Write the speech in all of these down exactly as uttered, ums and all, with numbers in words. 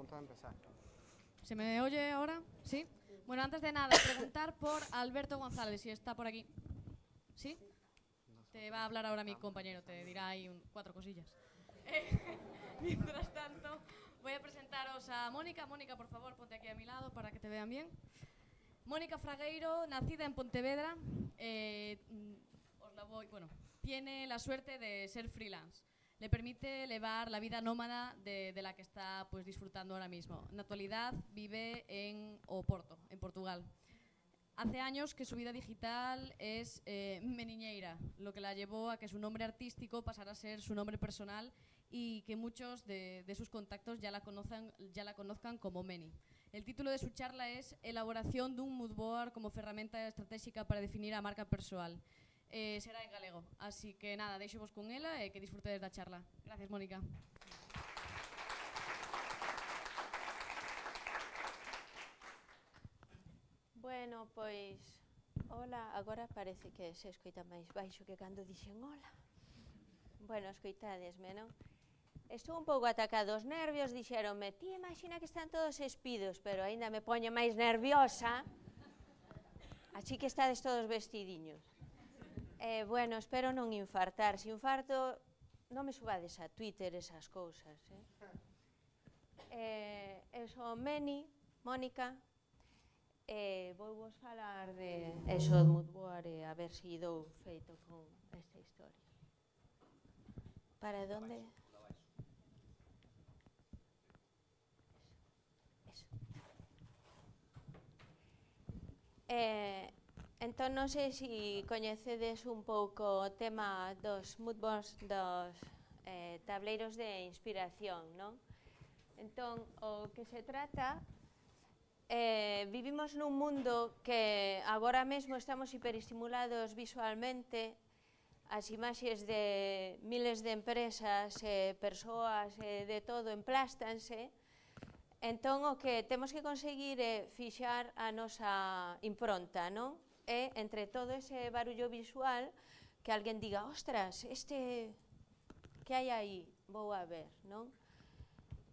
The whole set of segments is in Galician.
punto de empezar. ¿Se me oye ahora? ¿Sí? Bueno, antes de nada, preguntar por Alberto González, si está por aquí. ¿Sí? Te va a hablar ahora mi compañero, te dirá ahí un, cuatro cosillas. Eh, mientras tanto, voy a presentaros a Mónica. Mónica, por favor, ponte aquí a mi lado para que te vean bien. Mónica Fragueiro, nacida en Pontevedra, eh, os la voy, bueno, tiene la suerte de ser freelance. Le permite elevar la vida nómada de, de la que está pues, disfrutando ahora mismo. En la actualidad vive en Oporto, en Portugal. Hace años que su vida digital es eh, Meniñeira, lo que la llevó a que su nombre artístico pasara a ser su nombre personal y que muchos de, de sus contactos ya la, conozcan, ya la conozcan como Meni. El título de su charla es Elaboración dun mood board como ferramenta estratégica para definir a marca persoal. Eh, será en galego, así que nada, deixo-vos con ela e que disfrutedes da charla. Gracias, Mónica. Bueno, pois, hola, agora parece que se escoita máis baixo que cando dixen hola. Bueno, escoitadesme, non? Estou un pouco atacado os nervios, dixeronme, ti imagina que están todos espidos, pero aínda me poño máis nerviosa, así que estades todos vestidiños. Eh, bueno, espero non infartar. Se infarto, non me subades a Twitter esas cousas. Eh? Eh, eso, Meni, Mónica, eh, vou vos falar de eso de mood board e a ver se dou feito con esta historia. Para donde? Eso. Eh, entón, non sei se coñecedes un pouco o tema dos mood boards, dos eh, tableiros de inspiración, non? Entón, o que se trata, eh, vivimos nun mundo que agora mesmo estamos hiperestimulados visualmente, as imaxes de miles de empresas, eh, persoas, eh, de todo, emplástanse. Entón, o que temos que conseguir é fixar a nosa impronta, non? E, entre todo ese barullo visual, que alguén diga, ostras, este, que hai aí? Vou a ver, non?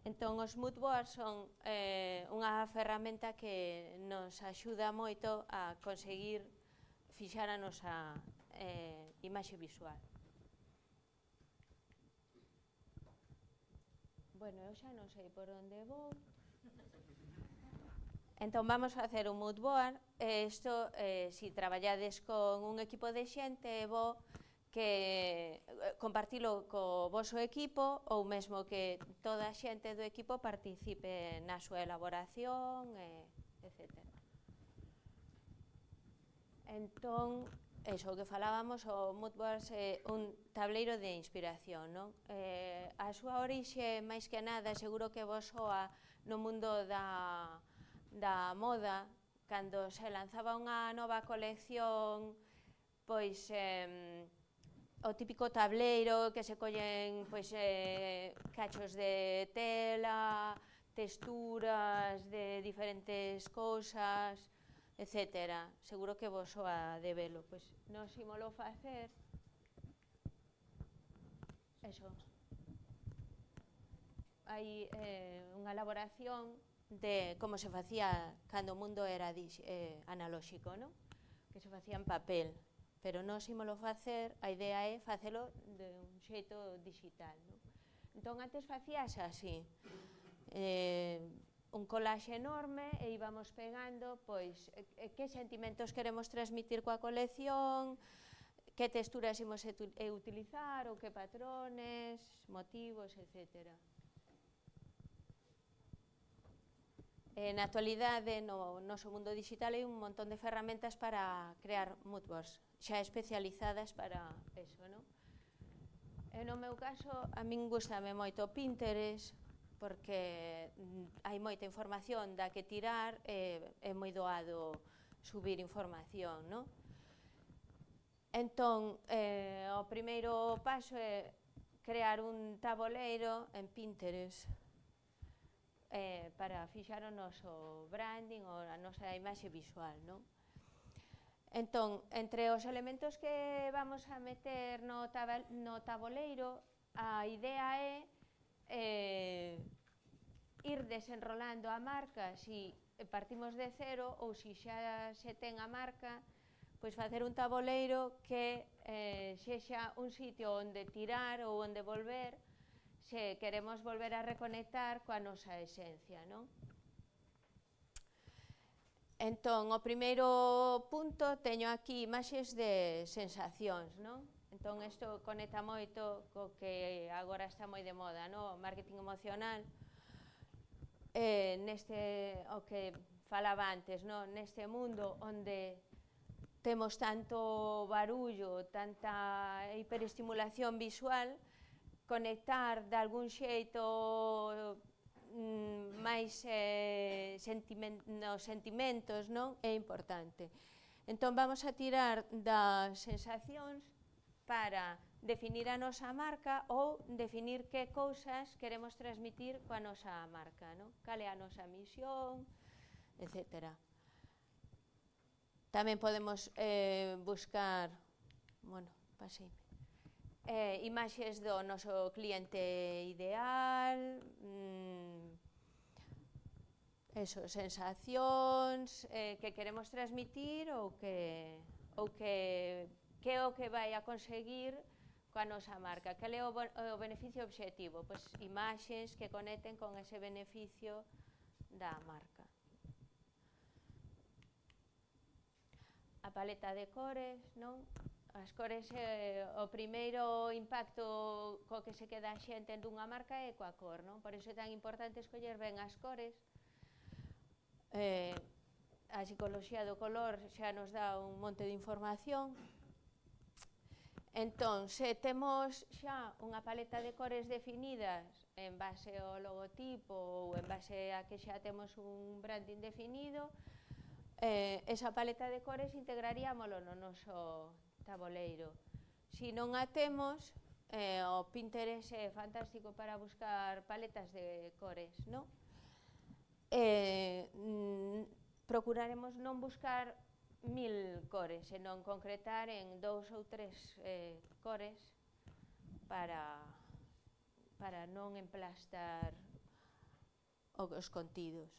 Entón, os mood boards son eh, unha ferramenta que nos axuda moito a conseguir fixar a nosa eh, imaxe visual. Bueno, eu xa non sei por onde vou. Entón, vamos a facer un mood board. Isto, eh, se traballades con un equipo de xente, é bo que compartilo co voso equipo ou mesmo que toda a xente do equipo participe na súa elaboración, eh, etcétera. Entón, eso que falábamos, o mood board é un tableiro de inspiración, non? Eh, a súa orixe, máis que nada, seguro que vos soa no mundo da, da moda, cando se lanzaba unha nova colección, pois, eh, o típico tableiro que se collen pois, eh, cachos de tela, texturas de diferentes cousas, etcétera. Seguro que vos soa de velo. Pois nos ímolo facer. Eso. Hai eh, unha elaboración de como se facía cando o mundo era eh, analóxico, non? Que se facía en papel. Pero non ímolo facer, a idea é facelo de un xeito digital, non? Entón, antes facíase así. Eh, un collage enorme e íbamos pegando pois eh, que sentimentos queremos transmitir coa colección, que texturas imos utilizar ou que patrones, motivos, etcétera. Eh, na actualidade, no noso mundo digital, hai un montón de ferramentas para crear mood boards, xa especializadas para eso, non? E no meu caso, a min gustame moito Pinterest, porque hai moita información da que tirar, e é moi doado subir información, non? Entón, eh, o primeiro paso é crear un taboleiro en Pinterest, Eh, para fixar o noso branding ou a nosa imaxe visual, non? Entón, entre os elementos que vamos a meter no, no taboleiro, a idea é eh, ir desenrolando a marca si partimos de cero ou si xa se ten a marca, pois facer un taboleiro que eh, sexa un sitio onde tirar ou onde volver se queremos volver a reconectar coa nosa esencia, non? Entón, o primeiro punto teño aquí imaxes de sensacións, non? Entón, isto conecta moito co que agora está moi de moda, non? O marketing emocional, eh, neste, o que falaba antes, non? Neste mundo onde temos tanto barullo, tanta hiperestimulación visual, conectar de algún xeito mm, máis eh, sentiment, nos sentimentos, non? É importante. Entón vamos a tirar das sensacións para definir a nosa marca ou definir que cousas queremos transmitir coa nosa marca, non? Cal é a nosa misión, etcétera. Tamén podemos eh, buscar, bueno, paseime, eh, imaxes do noso cliente ideal, mmm, eso, sensacións eh, que queremos transmitir ou que, ou que, que é o que vai a conseguir coa nosa marca. Cal é o, o beneficio obxectivo? Pois imaxes que conecten con ese beneficio da marca. A paleta de cores, non? As cores, eh, o primeiro impacto co que se queda a xente dunha marca é coa cor, non? Por iso é tan importante escoller ben as cores. Eh, a psicoloxía do color xa nos dá un monte de información. Entón, se temos xa unha paleta de cores definidas en base ao logotipo ou en base a que xa temos un branding definido, eh, esa paleta de cores integraríamolo no noso taboleiro. Si non a temos, eh, o Pinterest é fantástico para buscar paletas de cores, non? Eh, mm, procuraremos non buscar mil cores, senón concretar en dous ou tres eh, cores para, para non emplastar os contidos.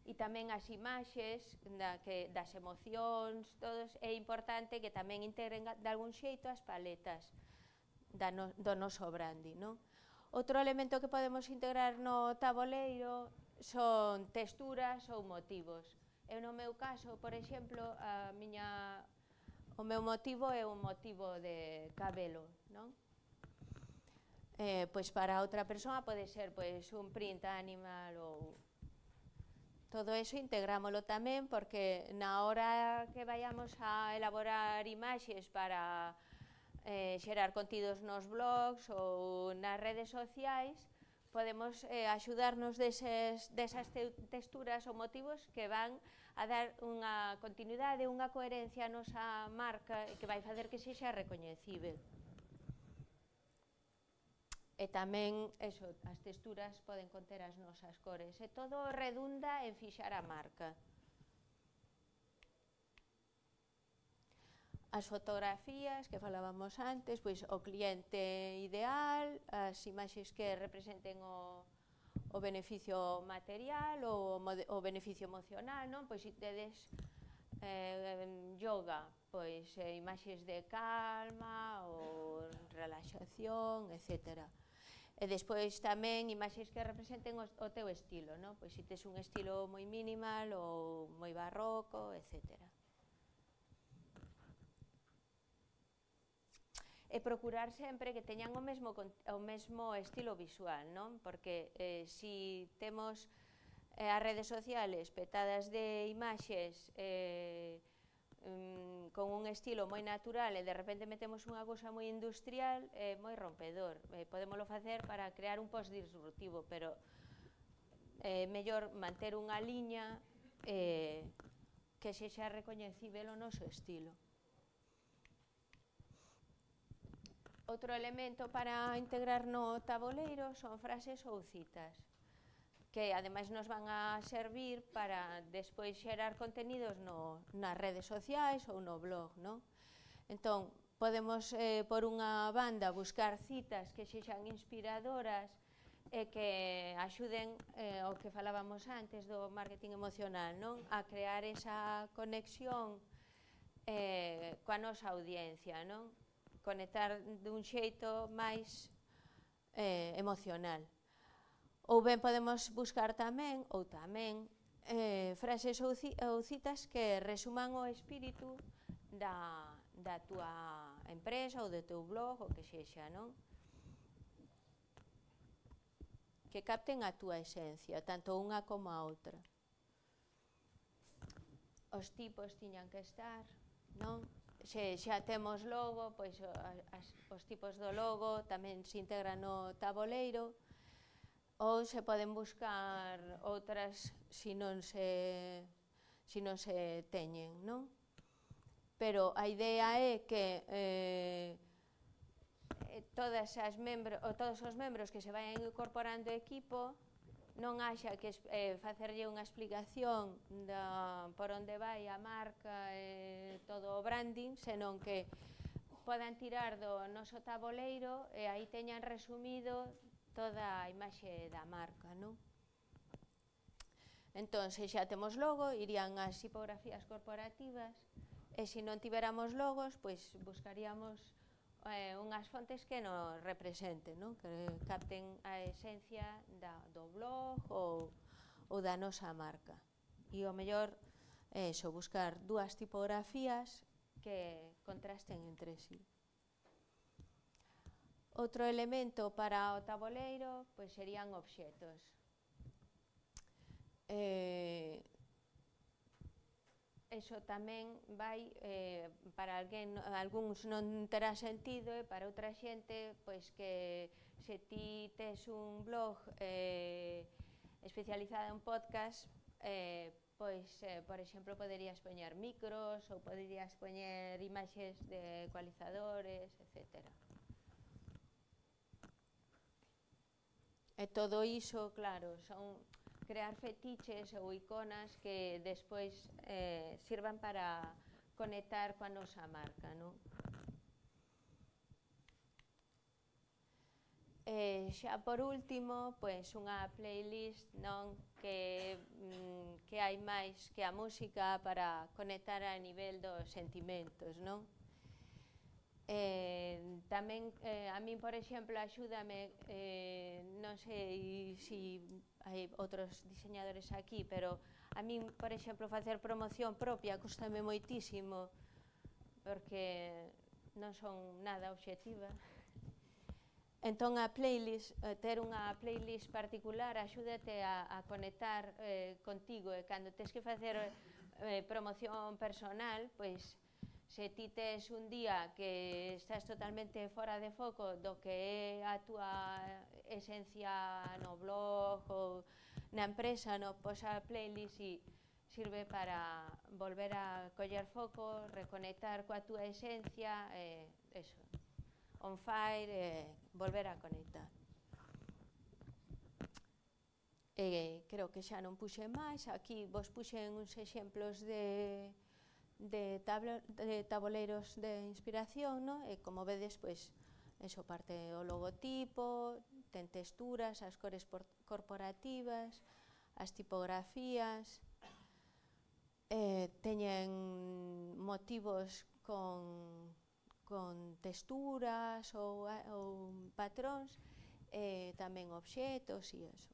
E tamén as imaxes da, que, das emocións, todos, é importante que tamén integren de algún xeito as paletas da no, do noso branding, non? Outro elemento que podemos integrar no taboleiro son texturas ou motivos. Eu no meu caso, por exemplo, a miña, o meu motivo é un motivo de cabelo, non? Eh, pois para outra persoa pode ser pois, un print animal ou... Todo eso integrámoslo tamén porque na hora que vayamos a elaborar imaxes para eh, xerar contidos nos blogs ou nas redes sociais, podemos eh, axudarnos deses, desas te texturas ou motivos que van a dar unha continuidade, unha coherencia a nosa marca e que vai facer que sexa recoñecível. E tamén, eso, as texturas poden conter as nosas cores. E todo redunda en fixar a marca. As fotografías que falábamos antes, pois o cliente ideal, as imaxes que representen o, o beneficio material ou o beneficio emocional, non? Pois se tedes eh, yoga, pois eh, imaxes de calma ou relaxación, etcétera. E despois tamén imaxes que representen o, o teu estilo, non? Pois se tes un estilo moi minimal ou moi barroco, etcétera. E procurar sempre que teñan o mesmo, o mesmo estilo visual, non? Porque eh, si temos eh, as redes sociales petadas de imaxes eh, Um, con un estilo moi natural e de repente metemos unha cousa moi industrial, é eh, moi rompedor. Eh, podémoslo facer para crear un post disruptivo, pero é eh, mellor manter unha liña eh, que sexa recoñecível o noso estilo. Outro elemento para integrar no taboleiro son frases ou citas, que ademais nos van a servir para despois xerar contenidos no, nas redes sociais ou no blog, non? Entón, podemos, eh, por unha banda, buscar citas que sexan inspiradoras, e que axuden eh, o que falábamos antes do marketing emocional, non? A crear esa conexión eh, coa nosa audiencia, non? Conectar dun xeito máis eh, emocional. Ou ben podemos buscar tamén, ou tamén, eh, frases ou, ci ou citas que resuman o espírito da, da túa empresa ou do teu blog, o que sexa, non? Que capten a túa esencia, tanto unha como a outra. Os tipos tiñan que estar, non? Se xa temos logo, pois as, os tipos do logo tamén se integran no taboleiro, ou se poden buscar outras se non se, se non se teñen, non? Pero a idea é que eh, todas as membros, ou todos os membros que se vayan incorporando ao equipo non haxa que eh, facerlle unha explicación da, por onde vai a marca e eh, todo o branding, senón que podan tirar do noso taboleiro e aí teñan resumido toda a imaxe da marca, non? Entón, se xa temos logo, irían as tipografías corporativas, e se non tiveramos logos, pois buscaríamos eh, unhas fontes que nos representen, non? Que capten a esencia da, do blog ou, ou da nosa marca. E o mellor é iso, buscar dúas tipografías que contrasten entre sí. Outro elemento para o taboleiro pois serían obxetos. Eh, eso tamén vai, eh, para alguén, algúns non terá sentido e para outra xente, pois que se ti tes un blog eh, especializado en podcast, eh, pois, eh, por exemplo, poderías poñer micros ou poderías poñer imaxes de ecualizadores, etcétera. E todo iso, claro, son crear fetiches ou iconas que despois eh, sirvan para conectar coa nosa marca, non? E xa por último, pois unha playlist, non, que, mm, que hai máis que a música para conectar a nivel dos sentimentos, non? Eh, tamén, eh, a min, por exemplo, axúdame, eh, non sei se si hai outros diseñadores aquí, pero a min, por exemplo, facer promoción propia custame moitísimo, porque non son nada obxectiva. Entón, a playlist, ter unha playlist particular axúdate a, a conectar eh, contigo, e cando tes que facer eh, promoción personal, pois, se ti tes un día que estás totalmente fora de foco do que é a túa esencia no blog ou na empresa, no, pois a playlist si, sirve para volver a coller foco, reconectar coa túa esencia, e eh, eso, on fire, e eh, volver a conectar. E creo que xa non puxe máis, aquí vos puxen uns exemplos de de, tablo, de taboleiros de inspiración, no? E como vedes, pois, eso parte o logotipo, ten texturas, as cores corporativas, as tipografías, eh, teñen motivos con, con texturas ou, ou patróns, e tamén obxetos e eso.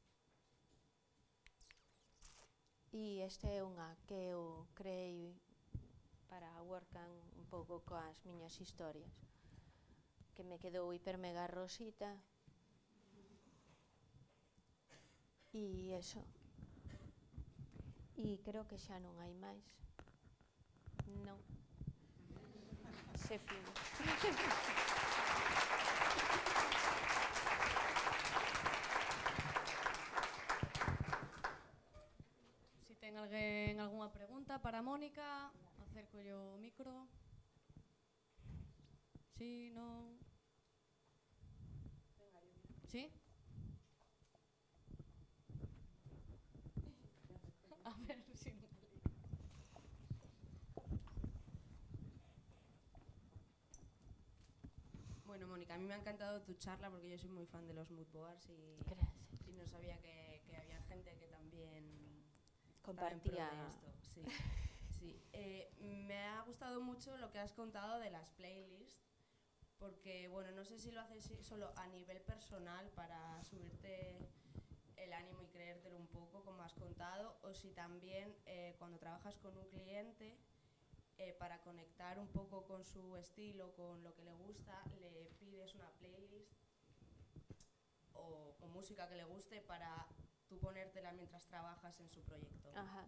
E este é unha que eu creei para workan un pouco coas miñas historias, que me quedou hiper mega rosita. E eso. E creo que xa non hai máis. Non. Se fin. Si ten alguén algunha pregunta para Mónica, acércolle o micro. Sí, non? Sí? A ver, si non. Bueno, Mónica, a mí me ha encantado tu charla porque yo soy muy fan de los mood boards y, y no sabía que, que había gente que también compartía estaba en pro de esto. Sí, sí. Eh, me ha gustado mucho lo que has contado de las playlists porque, bueno, no sé si lo haces solo a nivel personal para subirte el ánimo y creértelo un poco, como has contado, o si también eh, cuando trabajas con un cliente, eh, para conectar un poco con su estilo, con lo que le gusta, le pides una playlist o, o música que le guste para tú ponértela mientras trabajas en su proyecto. Ajá.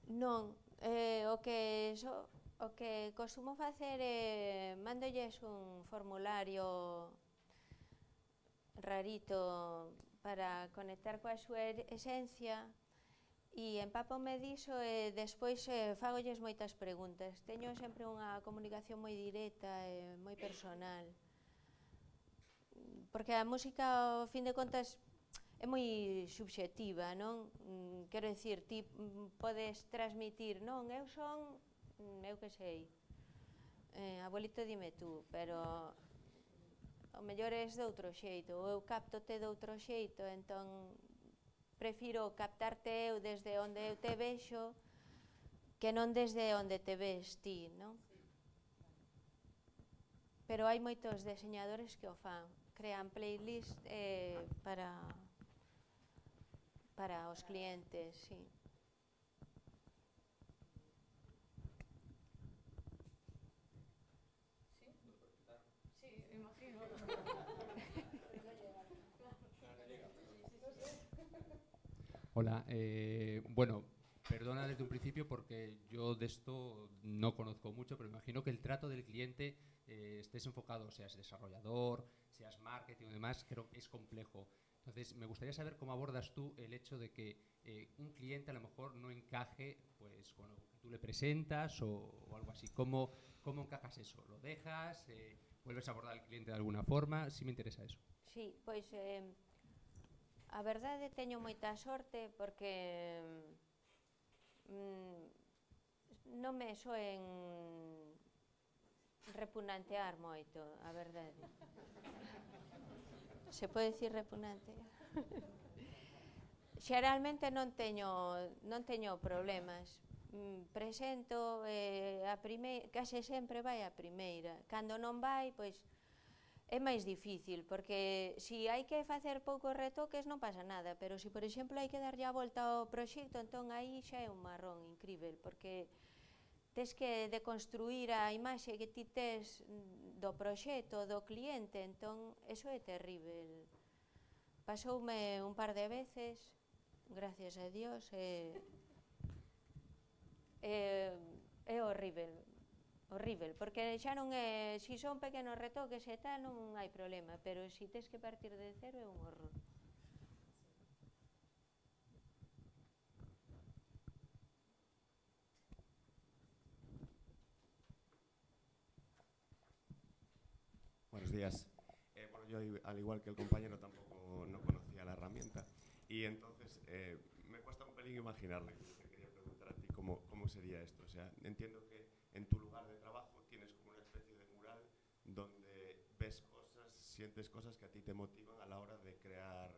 Non, eh, o que so, o que costumo facer é mándolles un formulario rarito para conectar coa súa esencia e empápome diso e despois eh, fagolles moitas preguntas. Teño sempre unha comunicación moi directa e moi personal. Porque a música, ao fin de contas, é moi subxectiva, non? Quero dicir, ti podes transmitir, non, eu son, eu que sei, eh, abuelito dime tú, pero o mellor és de outro xeito, ou eu captote de outro xeito, entón prefiro captarte eu desde onde eu te vexo que non desde onde te ves ti, non? Pero hai moitos deseñadores que o fan, crean playlist eh, para para os clientes, sí. Sí, imagino. Hola, eh, bueno, perdona desde un principio porque yo de esto no conozco mucho, pero imagino que el trato del cliente eh, estés enfocado, seas desarrollador, seas marketing o demás, creo que es complejo. Entonces, me gustaría saber cómo abordas tú el hecho de que eh, un cliente a lo mejor no encaje pues, con lo que tú le presentas o, o algo así. ¿Cómo, cómo encajas eso? ¿Lo dejas? Eh, ¿Vuelves a abordar al cliente de alguna forma? Sí me interesa eso. Sí, pois eh, a verdade teño moita sorte porque mm, non me soen repugnantear moito, a verdade. Se pode dicir repugnante? Xeralmente non teño, non teño problemas. Mm, presento, eh, a prime... case sempre vai a primeira. Cando non vai, pois, é máis difícil, porque se hai que facer poucos retoques non pasa nada, pero se, por exemplo, hai que darlle a volta ao proxecto, entón aí xa é un marrón incrível, porque tes que deconstruir a imaxe que ti tes do proxecto, do cliente, entón, eso é terrible. Pasoume un par de veces, gracias a Dios, e é, é horrível, horrível, porque xa non é, se son pequenos retoques e tal, non hai problema, pero se tes que partir de cero é un horror. Buenos días. Eh, bueno, yo, al igual que el compañero, tampoco no conocía la herramienta y entonces eh, me cuesta un pelín imaginarme. Te quería preguntar a ti cómo, cómo sería esto. O sea, entiendo que en tu lugar de trabajo tienes como una especie de mural donde ves cosas, sientes cosas que a ti te motivan a la hora de crear,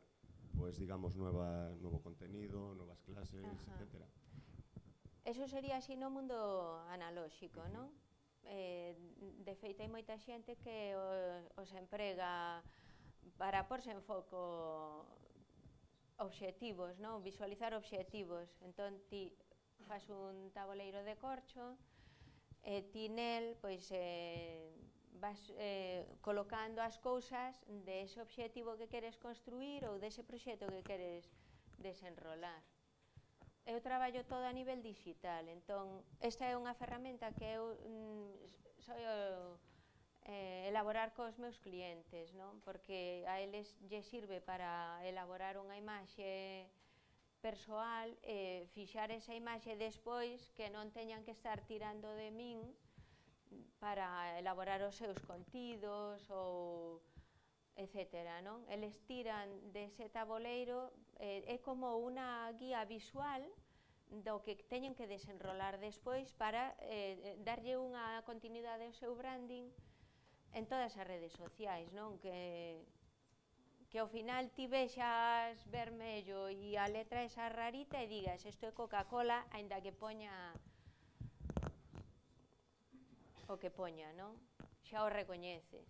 pues digamos, nueva, nuevo contenido, nuevas clases, Ajá. etcétera. Eso sería así no mundo analóxico, non? Eh, de feito, hai moita xente que o, os emprega para porse en foco obxectivos, non? Visualizar obxectivos. Entón, ti fas un tabuleiro de corcho e ti nel, pois, eh, vas eh, colocando as cousas dese objetivo que queres construir ou dese proxecto que queres desenrolar. Eu traballo todo a nivel digital, entón esta é unha ferramenta que eu mm, só eh, elaborar cos meus clientes, non? Porque a eles lle sirve para elaborar unha imaxe persoal e fixar esa imaxe despois que non teñan que estar tirando de min para elaborar os seus contidos ou etcétera, non? Eles tiran dese tabuleiro, eh, é como unha guía visual do que teñen que desenrolar despois para eh, darlle unha continuidade ao seu branding en todas as redes sociais, non? Que, que ao final ti vexas vermello e a letra esa rarita e digas isto é Coca-Cola, aínda que poña o que poña, non? Xa o recoñeces.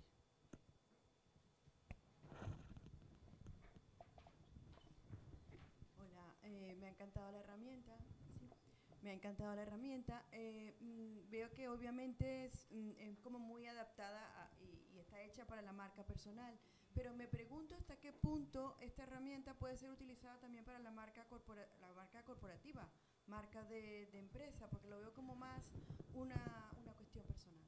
Hola, eh, me ha encantado la herramienta. Sí, me ha encantado la herramienta. Eh, mm, veo que obviamente es, mm, es como muy adaptada a, y, y está hecha para la marca personal. Pero me pregunto hasta qué punto esta herramienta puede ser utilizada también para la marca, corpora, la marca corporativa, marca de, de empresa, porque lo veo como más una, una cuestión personal.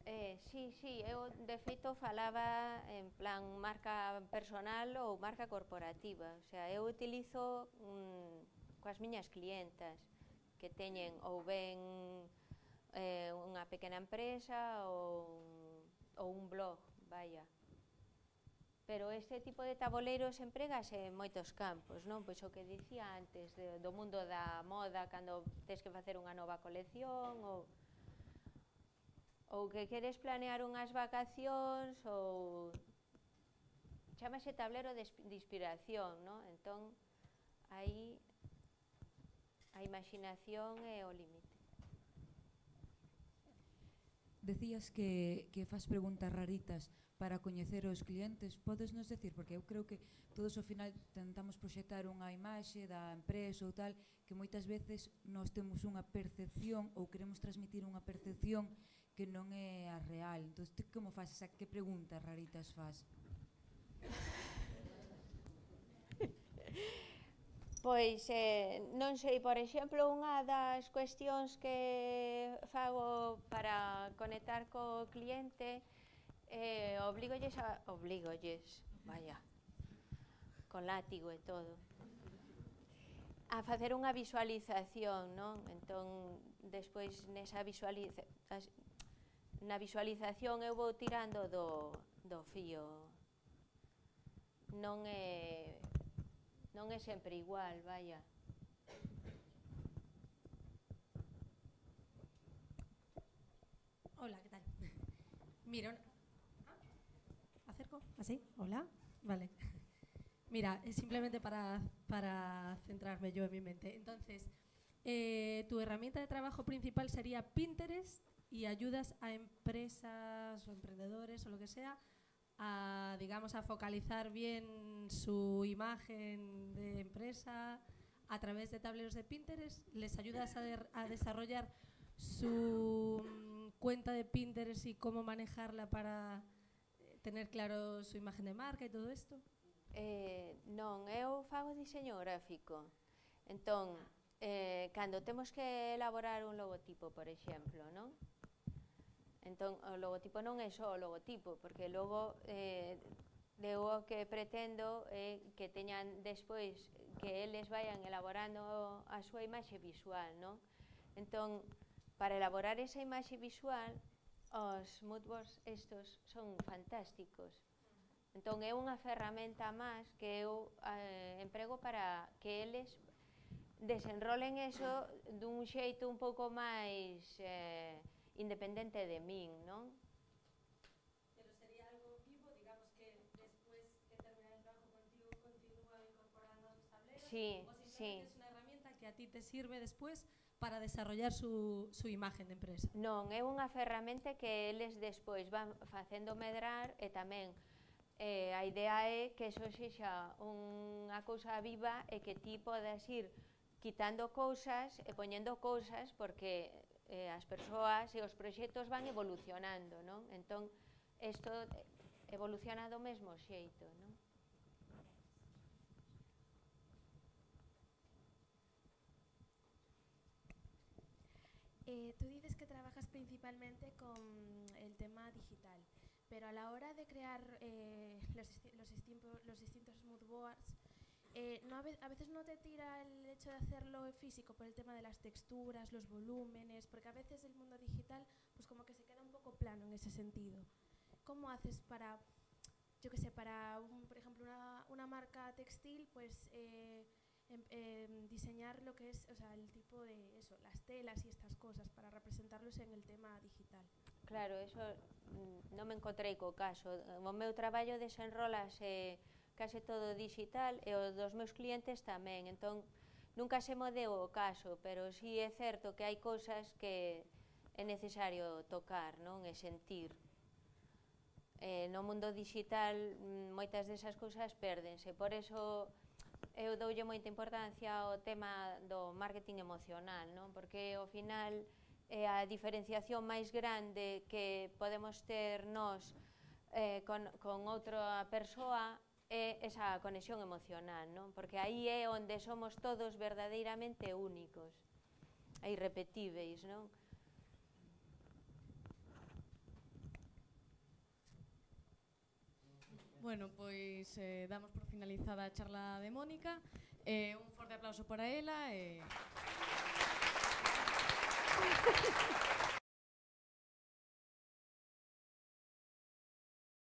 Eh, sí, sí, eu de feito falaba en plan marca personal ou marca corporativa. O sea, eu utilizo mm, coas miñas clientas que teñen ou ben eh, unha pequena empresa ou, ou un blog, vaya. Pero este tipo de taboleiros empregase en moitos campos, non? Pois o que dicía antes, de, do mundo da moda, cando tens que facer unha nova colección, ou, ou que queres planear unhas vacacións, ou chámase tablero de, de inspiración, non? Entón, aí a imaginación é o límite. Decías que, que fas preguntas raritas para coñecer os clientes. Podes nos decir, porque eu creo que todos ao final tentamos proxectar unha imaxe da empresa ou tal, que moitas veces nós temos unha percepción ou queremos transmitir unha percepción que non é a real. Entón, ti como fas? Esa, que preguntas raritas fas? Pois, eh, non sei, por exemplo, unha das cuestións que fago para conectar co cliente eh, obligolles a... obligolles, vaya, con látigo e todo, a facer unha visualización, non? Entón, despois nesa visualiza, na visualización eu vou tirando do, do fío. Non é... non é sempre igual, vaya. Hola, ¿qué tal? Mira, ¿acerco? ¿Así? Hola, vale. Mira, es simplemente para, para centrarme yo en mi mente. Entonces, eh, tu herramienta de trabajo principal sería Pinterest y ayudas a empresas o emprendedores o lo que sea a, digamos, a focalizar bien su imagen de empresa a través de tableros de Pinterest. Les ayudas a, de, a desarrollar su mm, cuenta de Pinterest y cómo manejarla para eh, tener claro su imagen de marca y todo esto. Eh, non, eu fago diseño gráfico. Entón, eh, cando temos que elaborar un logotipo, por exemplo, non? Entón, o logotipo non é só o logotipo, porque logo eh, eu o que pretendo é que teñan despois que eles vayan elaborando a súa imaxe visual, non? Entón, para elaborar esa imaxe visual, os moodboards estos son fantásticos. Entón, é unha ferramenta máis que eu eh, emprego para que eles desenrolen eso dun xeito un pouco máis... Eh, independente de min, non? Pero sería algo vivo, digamos que después que termina el trabajo contigo continúa incorporando los tableros. Sí, o simplemente sí. es una herramienta que a ti te sirve después para desarrollar su, su imagen de empresa. Non, é unha ferramenta que eles despois van facendo medrar e tamén eh, a idea é que eso sexa unha cousa viva e que ti podas ir quitando cousas e poñendo cousas porque eh, as persoas e os proxectos van evolucionando, non? Entón, isto evoluciona do mesmo xeito, non? Eh, tú dices que trabajas principalmente con el tema digital, pero a la hora de crear eh, los, los, distintos, los distintos moodboards, Eh, no, a veces no te tira el hecho de hacerlo físico por el tema de las texturas, los volúmenes, porque a veces el mundo digital pues como que se queda un poco plano en ese sentido. ¿Cómo haces para, yo qué sé, para un, por ejemplo una, una marca textil, pues eh, em, eh, diseñar lo que es, o sea, el tipo de eso, las telas y estas cosas para representarlos en el tema digital? Claro, eso mm, non me encontrei co caso. O meu traballo desenrolase case todo digital e o dos meus clientes tamén, entón nunca se mo deu o caso, pero sí é certo que hai cousas que é necesario tocar, non? E sentir. Eh, no mundo digital moitas desas cousas pérdense, por eso eu doulle moita importancia ao tema do marketing emocional, non? Porque ao final é a diferenciación máis grande que podemos ter nós eh, con, con outra persoa é esa conexión emocional, non? Porque aí é onde somos todos verdadeiramente únicos e irrepetíveis, non? Bueno, pois eh, damos por finalizada a charla de Mónica. Eh, un forte aplauso para ela. E...